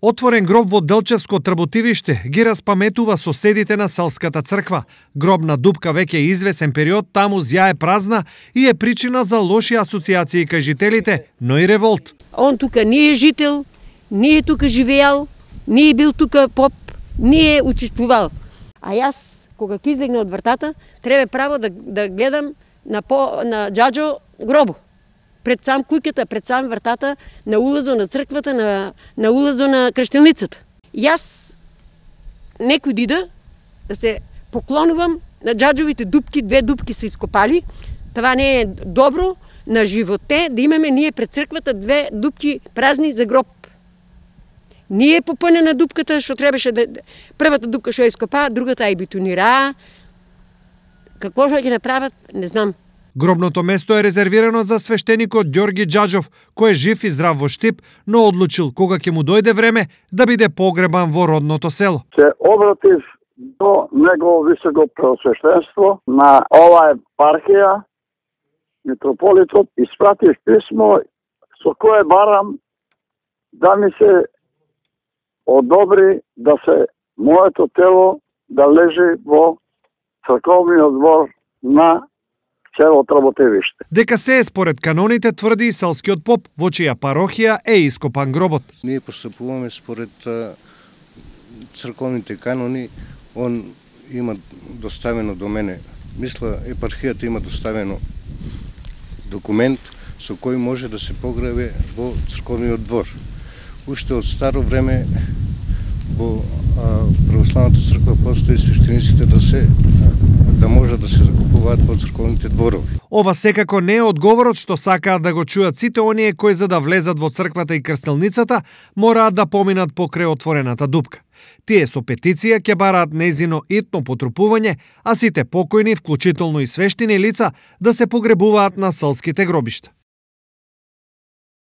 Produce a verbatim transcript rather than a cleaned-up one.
Отворен гроб во Делчевско Трботивиште ги распаметува соседите на селската црква. Гробна дупка веќе извесен период таму зјае празна и е причина за лоши асоциации кај жителите, но и револт. Он тука не е жител, не е тука живеал, не е бил тука поп, не е учествувал. А јас, кога ќе излегна од вратата, треба право да, да гледам на, по, на џаџо гробо. Пред сам куќата, пред сам вратата, на улазо на црквата, на, на улазо на крштелницата. Јас некој дида да се поклонувам на џаџовите дупки, две дупки се ископали. Това не е добро на животе, да имаме ние пред црквата две дупки празни за гроб. Ние попълнена дупката, што требаше да... Првата дупка што ја ископаа, другата ја бетонираа. Какво што ќе направат, не знам. Гробното место е резервирано за свештеникот Ѓорги Џаџов, кој е жив и здрав во Штип, но одлучил кога ќе му дојде време да биде погребан во родното село. Се обратив до негово високо преосвештенство на оваа епархија, митрополитот, испратив писмо со кое барам да ми се одобри да се моето тело да лежи во црковниот двор на село Трботевиште. Дека се е според каноните, тврди и селскиот поп, во чија парохија е ископан гробот. Ние постапуваме според црковните канони. Он има доставено до мене. Мисла, епархијата има доставено документ со кој може да се погребе во црковниот двор. Уште од старо време во православната црква постои свештениците да се да може да се закупуваат во црковните дворови. Ова секако не е одговорот што сакаат да го чујат сите оние кои за да влезат во црквата и крстелницата мораат да поминат покрај отворената дупка. Тие со петиција ќе бараат незино итно потрупување, а сите покојни, вклучително и свештени лица, да се погребуваат на селските гробишта.